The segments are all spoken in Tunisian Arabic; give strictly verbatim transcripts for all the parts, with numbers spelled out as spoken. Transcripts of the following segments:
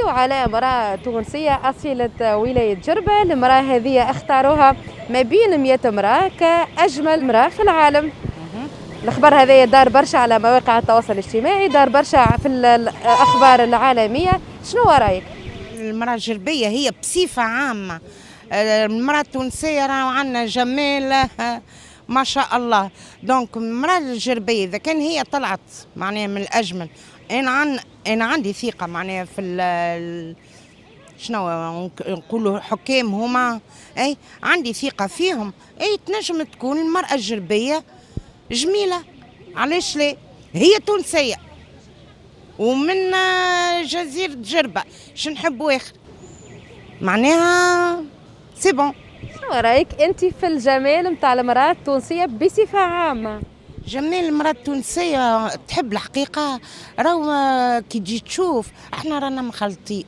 نحكيو على امرأة تونسية أصيلة ولاية جربة. المرأة هذه اختاروها ما بين مئة امرأة كأجمل امرأة في العالم. الخبر هذا دار برشا على مواقع التواصل الاجتماعي، دار برشا في الأخبار العالمية. شنو رأيك؟ المرأة الجربية هي بصفة عامة المرأة التونسية راهو عندنا جمال ما شاء الله. donc المرأة الجربية إذا كان هي طلعت معناها من الأجمل، أنا عن أنا عندي ثقة معناها في ال شنو نقولوا حكام هما، أي عندي ثقة فيهم، أي تنجم تكون المرأة الجربية جميلة، علاش لا؟ هي تونسية ومن جزيرة جربة، شو نحبوا آخر؟ معناها c'est bon. شنو رايك انت في الجمال نتاع المراة التونسية بصفة عامة؟ جمال المراة التونسية تحب الحقيقة راهو كي تجي تشوف احنا رانا مخلطين،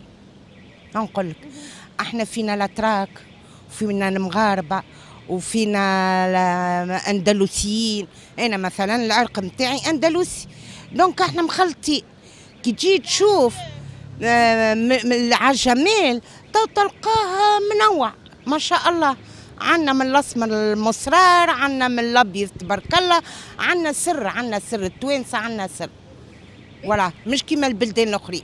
نقول لك احنا فينا الاتراك وفينا المغاربة وفينا الاندلسيين. انا مثلا العرق نتاعي اندلسي، donc احنا مخلطين. كي تجي تشوف على الجمال تلقاه منوع ما شاء الله. عندنا من الاسمر المصرار، عندنا من الابيض تبارك الله، عندنا سر، عندنا سر التوانسة، عندنا سر ولا مش كيما البلدان الاخرين.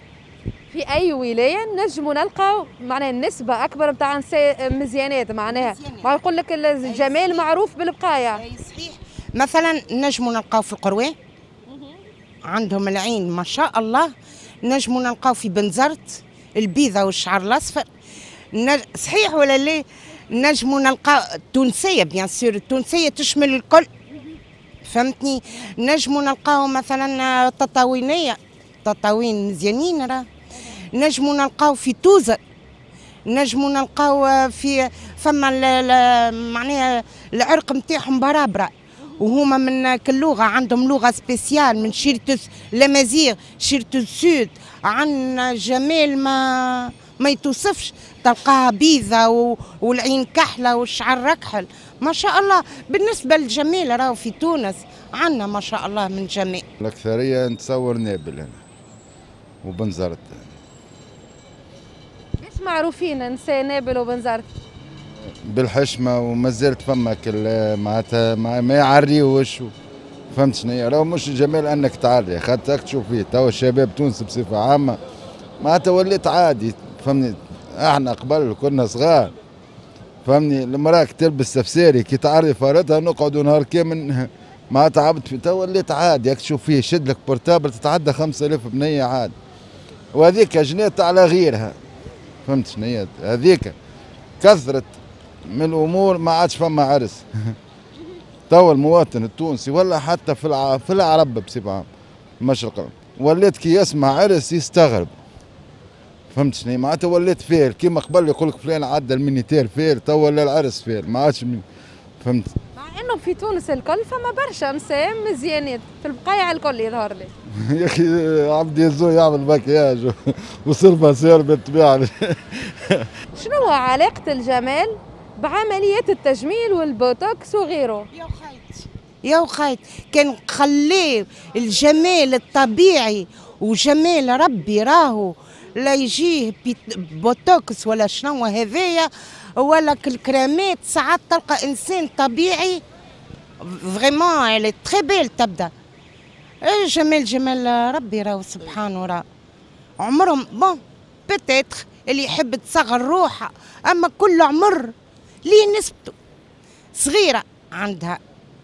في اي ولاية نجموا نلقاو معناها النسبة اكبر نتاع نساء مزيانات، معناها ما يقول لك الجمال معروف بالبقايا. اي صحيح. مثلا نجموا نلقاو في القروان عندهم العين ما شاء الله، نجموا نلقاو في بنزرت البيضة والشعر الاصفر، نج... صحيح ولا لا؟ نجموا نلقاو التونسية bien sûr، التونسية تشمل الكل، فهمتني؟ نجموا نلقاو مثلا تطاوينيه، تطاوين مزيانين راه. نجموا نلقاو في توزر، نجموا نلقاو في فما معناها العرق نتاعهم برابره، وهما من كل لغة عندهم لغة spéciale من شيرة الامازيغ، شيرة ال sud. عندنا جمال ما ما يتوصفش، تلقاها بيضة والعين كحلة والشعر ركحل ما شاء الله. بالنسبة للجمال راهو في تونس عندنا ما شاء الله من جمال. الاكثرية نتصور نابل انا وبنزرت. ليش معروفين نساء نابل وبنزرت؟ بالحشمه، وما زالت فما كل معناتها ما يعريوش، فهمت شنو؟ راهو مش جمال انك تعري، خاطر تشوف فيه توا الشباب تونس بصفة عامة معناتها وليت عادي، فهمني؟ احنا قبل كنا صغار، فهمني، المراة تلبس سفساري كي تعري فارتها نقعدوا نهار كامل معناتها عبد في. توا وليت عادي، ياك تشوف فيه شد لك portable تتعدى خمسة آلاف بنيه عادي، وهذيك جنات على غيرها، فهمت شنو؟ هذيك كثرت من الامور ما عادش فما عرس. توا المواطن التونسي ولا حتى في الع... في العرب بصفة عامة المشرق ولات كي يسمع عرس يستغرب، فهمت شنو؟ معناتها ولات فيل كيما قبل يقول لك فلان عدى ال minuteur فيل، توا ولا العرس فيل ما عادش، فهمت؟ مع انه في تونس الكل فما برشا نساء مزيانات في البقايع الكل يظهر لي. يا اخي عبد يزو يعمل مكياج وصرفه سير بالطبيعة. شنو علاقة الجمال بعمليات التجميل والبوتوكس وغيره؟ يا وخيت يا وخيت، كان خليه الجمال الطبيعي وجمال ربي راهو لا يجيه بوتوكس ولا شنو هذايا ولا الكريمات. ساعات تلقى انسان طبيعي vraiment elle est très belle تبدا جمال جمال ربي راهو سبحانه، راه عمرهم bon peut-être اللي يحب تصغر روحه، اما كل عمر ليه نسبته، صغيرة عندها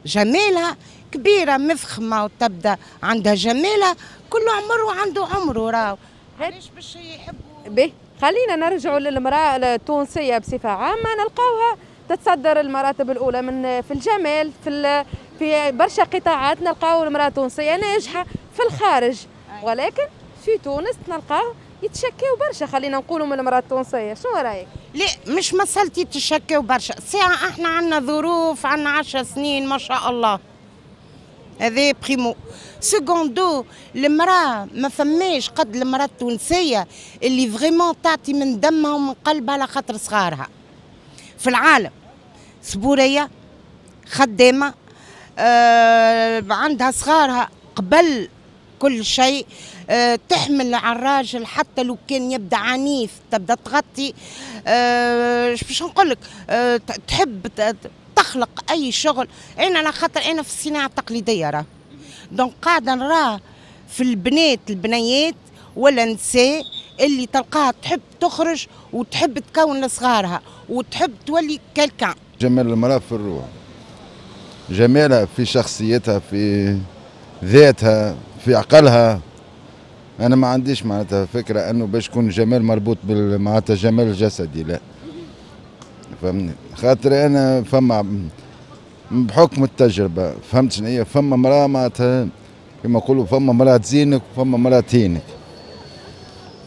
جمالها، كبيرة مفخمة وتبدا عندها جمالها، كل عمر وعنده عمره راهو. علاش باش يحبوا؟ به خلينا نرجعوا للمراة التونسية بصفة عامة، نلقاوها تتصدر المراتب الاولى من في الجمال، في في برشا قطاعات نلقاو المراة التونسية ناجحة في الخارج، ولكن في تونس نلقاو يتشكاو برشا، خلينا نقولوا من المراة التونسية. شنو رايك؟ لا مش مسألة يتشكاو برشا، ساعة احنا عندنا ظروف، عندنا عشر سنين ما شاء الله، هذا primo. secundo المراة ما فماش قد المراة التونسية اللي vraiment تعطي من دمها ومن قلبها على خاطر صغارها في العالم. صبوريه، خدامه، آه عندها صغارها قبل كل شيء، أه تحمل على الراجل حتى لو كان يبدا عنيف تبدا تغطي. أه باش نقول لك أه تحب تخلق اي شغل. انا على خاطر انا في الصناعة التقليدية راه donc قاعدة نراه في البنات البنيات ولا نساء اللي تلقاها تحب تخرج وتحب تكون لصغارها وتحب تولي quelqu'un. جمال المرأة في الروح، جمالها في شخصيتها، في ذاتها، في عقلها. انا ما عنديش معناتها فكرة انه باش يكون جمال مربوط بال معناتها جمال الجسدي، لا فهمني، خاطر انا فما بحكم التجربة فهمت شنو هي. فما مراة معناتها كما نقولوا فما مراة تزينك وفما مراة تهينك،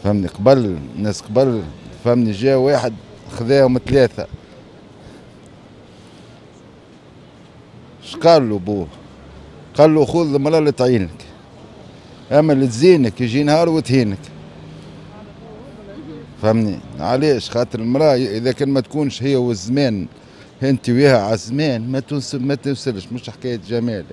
فهمني. قبل الناس قبل فهمني جا واحد خذاهم ثلاثة، اش قال له بوه؟ قال له خذ المراة اللي تعينك، اما اللي تزينك يجي نهار وتهينك، فهمني علاش؟ خاطر المراة اذا كان ما تكونش هي والزمان انت وياها على الزمان ما توصل ما توصلش، مش حكاية جمال.